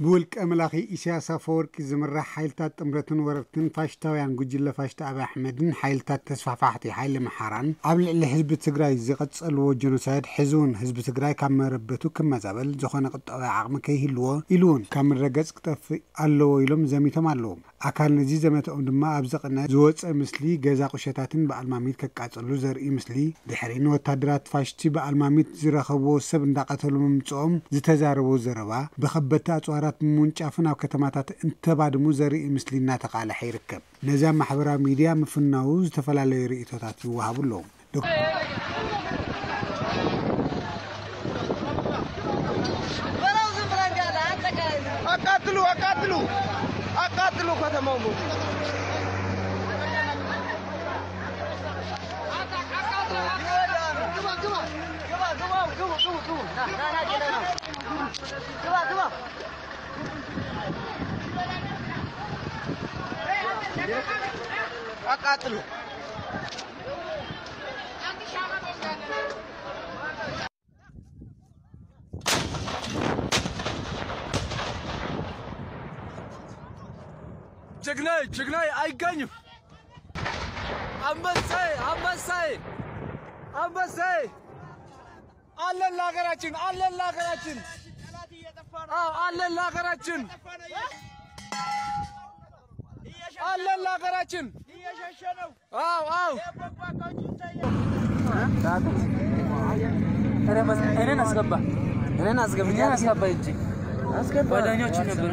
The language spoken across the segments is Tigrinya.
ብውልቀ መላኺ ኢሳያስ ኣፈወርቂ ዝምራሕ ሓይልታት ጥምረትን ወረርትን ፋሽስታውያን ጉጅለ ፋሽስት ኣብይ ኣሕመድን ሓይልታት ተስፋሕፋሕቲ ሓይሊ ኣምሓራን ኣብ ልዕሊ ህዝቢ ትግራይ ዝቐጸልዎ ጀኖሳይድ፣ ሕዚ እውን ህዝቢ ትግራይ ካብ መረበቱ ክመዛበል ዝኾነ ቁጠባዊ ዓቕሚ ከይህልዎ ኢሉ እውን ካብ ምድረ ገጽ ክጠፍእ ኣለዎ ኢሎም ዘሚቶም ኣለዉ። ኣካል ነዚ ዘመተኦም ድማ ኣብ ዝቐነ ዝወፀ ምስሊ ገዛ ቁሸታትን በኣልማሚት ከቃጸሉ ዘርኢ ምስሊ፣ ድሕሪ ንወታደራት ፋሽስቲ በኣልማሚት ዝረኸብዎ ሰብ እንዳቐተሉ ምምፅኦም ዝተዛረቦ ዘረባ፣ ብኸበድቲ ኣፅዋራት ብምውንጫፍን ኣብ ከተማታት እንተባድሙ ዘርኢ ምስሊ እናተቃለሐ ይርከብ። ነዚ ኣብ ማሕበራዊ ሚድያ ምፍናዉ ዝተፈላለዩ ርእይቶታት ይወሃቡ ኣለዉ። አቃጥሉ፣ አቃጥሉ፣ አቃጥሉ ከተማው ሙሉ። አቃጥሉ። ጀግናይ፣ ጀግናይ አይገኝም። አንበሳይ፣ አንበሳይ፣ አንበሳይ። አለን ለሀገራችን፣ አለን ለሀገራችን። አዎ፣ አለን ለሀገራችን፣ አለን ለሀገራችን። አዎ፣ አዎ። እኔን አስገባ፣ እኔን አስገባ፣ እኔን አስገባ እንጂ። ጓደኞች ነበሩ።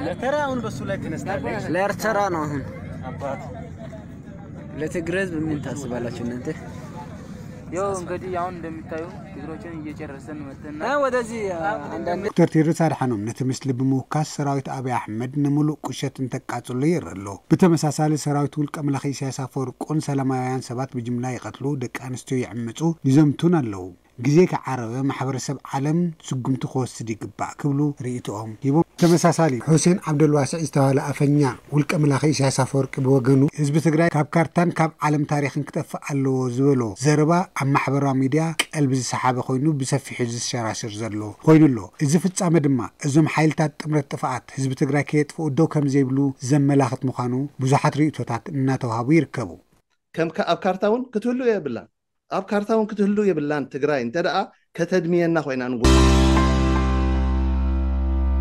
ለተራ አሁን በሱ ላይ ተነስታለች። ለኤርትራ ነው አሁን። አባት ለትግራይ ህዝብ ምን ታስባላችሁ እናንተ? ያው እንግዲህ አሁን እንደሚታዩ ትግሮችን እየጨረሰን መጥተና። እ፣ ወደዚህ፣ እ፣ አንዳንድ ዶክተር ቴድሮስ ኣድሓኖም ነቲ ምስሊ ብምውካስ ሰራዊት ኣብይ ኣሕመድ ንምሉእ ቁሸት እንተቃጽሎ ይርኢ ኣሎ። ብተመሳሳሊ ሰራዊት ውልቀ መላኺ ኢሳያስ ኣፈወርቁን ሰላማውያን ሰባት ብጅምላ ይቐትሉ፣ ደቂ ኣንስትዮ ይዕምጹ፣ ይዘምቱን ኣለዉ። ግዜ ከዓረበ ማሕበረሰብ ዓለም ስጉምቲ ክወስድ ይግባእ ክብሉ ርእይቶኦም ሂቦም። ተመሳሳሊ፣ ሑሴን ዓብደልዋስዕ ዝተባህለ ኣፈኛ ውልቀ መላኺ ኢሳያስ ኣፈወርቂ ብወገኑ፣ ህዝቢ ትግራይ ካብ ካርታን ካብ ዓለም ታሪኽን ክጠፍእ ኣለዎ ዝበሎ ዘረባ ኣብ ማሕበራዊ ሚድያ ቀልቢ ዝሰሓበ ኮይኑ ብሰፊሑ ዝሸራሸር ዘሎ ኮይኑ ኣሎ። እዚ ፍጻመ ድማ እዞም ሓይልታት ጥምረት ጥፍኣት ህዝቢ ትግራይ ከየጥፍኡ ደው ከም ዘይብሉ ዘመላኽት ምዃኑ ብዙሓት ርእይቶታት እናተውሃቡ ይርከቡ። ከም ከ-፣ ኣብ ካርታ እውን ክትህሉ የብላን። ኣብ ካርታ እውን ክትህሉ የብላን። ትግራይ እንተ ደኣ ከተድምየና ኮይና ንጉ-፣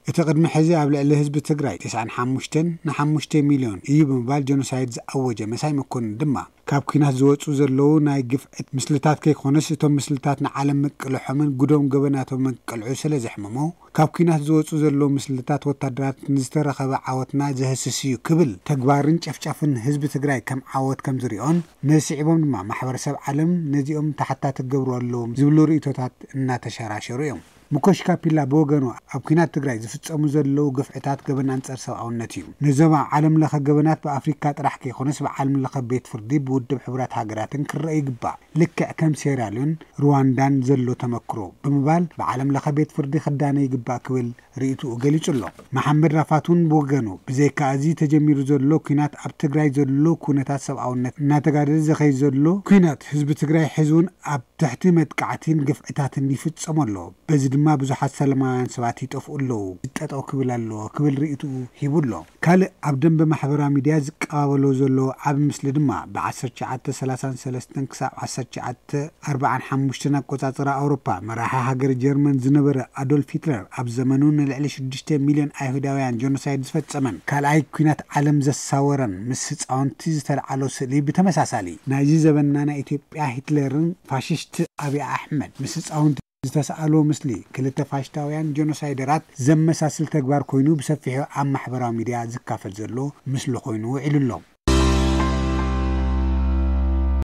እቲ ቅድሚ ሕዚ ኣብ ልዕሊ ህዝቢ ትግራይ ተስዓን ሓሙሽተን ንሓሙሽተ ሚልዮን እዩ ብምባል ጀኖሳይድ ዝኣወጀ መሳይ መኮንን ድማ፣ ካብ ኲናት ዝወፁ ዘለዉ ናይ ግፍዕት ምስልታት ከይኮነስ፣ እቶም ምስልታት ንዓለም ምቅልሖምን ጉዶም ገበናቶም ምቅልዑ ስለ ዘሕመሞ፣ ካብ ኲናት ዝወፁ ዘለዉ ምስልታት ወታደራት ንዝተረኸበ ዓወትና ዘህስስ እዩ ክብል፣ ተግባርን ጨፍጫፍን ህዝቢ ትግራይ ከም ዓወት ከም ዝሪኦን፣ ነዚ ስዒቦም ድማ ማሕበረሰብ ዓለም ነዚኦም ተሓታቲ ክገብሩ ኣለዎም ዝብሉ ርእይቶታት እናተሸራሸሩ እዮም። ሙኮሽ ካፒላ ብወገኑ፣ ኣብ ኲናት ትግራይ ዝፍጸሙ ዘለዉ ግፍዕታት ገበን ኣንጻር ሰብኣውነት እዩ። ነዞም ኣብ ዓለም ለኸ ገበናት ብኣፍሪካ ጥራሕ ከይኮነስ ብዓለም ለኸ ቤት ፍርዲ ብውድብ ሕቡራት ሃገራትን ክረአ ይግባእ። ልክዕ ከም ሴራልዮን ሩዋንዳን ዘሎ ተመክሮ ብምባል ብዓለም ለኸ ቤት ፍርዲ ክዳነ ይግባእ ክብል ርእይትኡ ገሊጹ ኣሎ። መሓመድ ራፋት እውን ብወገኑ፣ ብዘይካ እዚ ተጀሚሩ ዘሎ ኲናት ኣብ ትግራይ ዘሎ ኩነታት ሰብኣውነት እናተጋደደ ዝኸይድ ዘሎ ኲናት ህዝቢ ትግራይ ሕዚ እውን ኣብ ትሕቲ መጥቃዕቲን ግፍዕታትን ይፍጸሞ ኣሎ። በዚ ድማ ብዙሓት ሰላማውያን ሰባት ይጠፍኡ ኣለዉ። ጠጠው ክብል ኣለዎ ክብል ርእይትኡ ሂቡ ኣሎ። ካልእ ኣብ ደንበ ማሕበራዊ ሚድያ ዝቀባበሎ ዘሎ ዓቢ ምስሊ ድማ ብ ዓሰርተ ትሽዓተ ሰላሳን ሰለስተን ክሳብ ዓሰርተ ትሽዓተ ኣርባዓን ሓሙሽተን ኣቆጻጽራ ኣውሮፓ መራሒ ሃገር ጀርመን ዝነበረ ኣዶልፍ ሂትለር ኣብ ዘመኑ ንልዕሊ ሽዱሽተ ሚልዮን ኣይሁዳውያን ጀኖሳይድ ዝፈጸመን ካልኣይ ኲናት ዓለም ዘሳወረን ምስ ህጻውንቲ ዝተልዓሎ ስእሊ ብተመሳሳሊ ናይዚ ዘበንና ናይ ኢትዮጵያ ሂትለርን ፋሽስት ኣብይ ኣሕመድ ምስ ህጻውንቲ ዝተስኣሎ ምስሊ ክልተ ፋሽስታውያን ጀኖሳይደራት ዘመሳስል ተግባር ኮይኑ ብሰፊሑ ኣብ ማሕበራዊ ሚድያ ዝካፈል ዘሎ ምስሊ ኮይኑ ውዒሉ ኣሎ።